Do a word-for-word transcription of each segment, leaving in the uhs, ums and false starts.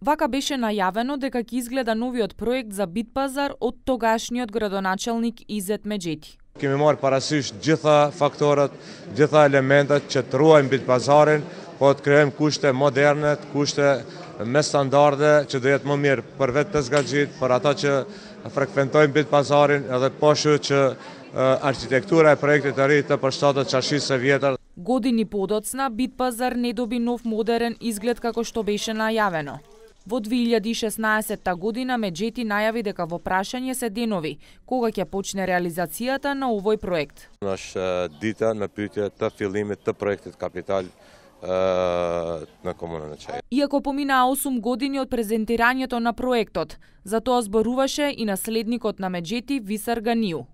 Вака беше најавено дека ќе изгледа новиот проект за Битпазар од тогашниот градоначелник Изет Меджети. Kemi marrë parasysh gjitha faktorët, gjitha elementet që të ruajmë Bitpazarin, po të krijojmë kushte moderne, kushte me standarde që do jetë më mirë për vetë tezgaxhit, për ata që frekventojnë Bitpazarin, edhe po shoh që arkitektura e projektit të ri të përshtatet çarшisë së vjetër. Години подоцна Битпазар не доби нов модерен изглед како што беше најавено. Во две илјади и шеснаесетта година Меджети најави дека во прашање се денови кога ќе почне реализацијата на овој проект. Është dita në pyetje të fillimit të projektit kapital на комунën e Çajrit. Иако поминаа осум години од презентирањето на проектот, за тоа зборуваше и наследникот на Меджети Висар Ганиу.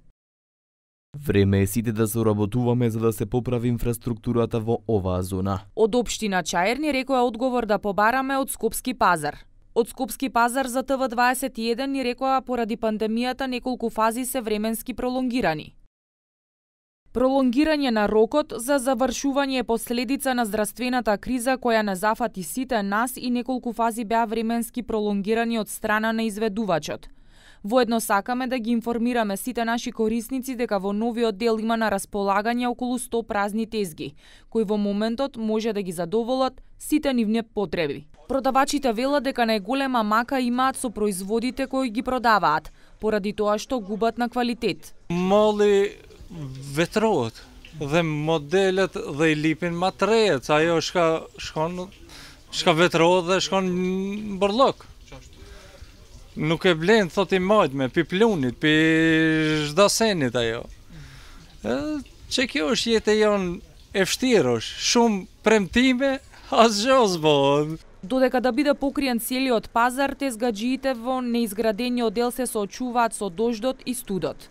Време е сите да соработуваме за да се поправи инфраструктурата во оваа зона. Од општина Чаир ни рекоа одговор да побараме од Скопски пазар. Од Скопски пазар за Т В дваесет и еден ни рекоа поради пандемијата неколку фази се временски пролонгирани. Пролонгирање на рокот за завршување е последица на здравствената криза која не зафати сите нас и неколку фази беа временски пролонгирани од страна на изведувачот. Воедно сакаме да ги информираме сите наши корисници дека во новиот дел има на располагање околу сто празни тезги, кои во моментот може да ги задоволат сите нивни потреби. Продавачите велат дека најголема мака имаат со производите кои ги продаваат, поради тоа што губат на квалитет. Малли ветроhet dhe modelet dhe i lipin ma të rejet, ajo shka shkon shka vetrohet dhe shkon në bërllok. Nuk e blen, thot i majtme, pi plunit, pi zhdasenit ajo. Që kjo është jetë e janë e vështirosh, shumë premtime, asgjë s'bën. Додека да биде покриен целиот пазар, тезгаџиите во неизградениот дел се соочуваат со дождот и студот.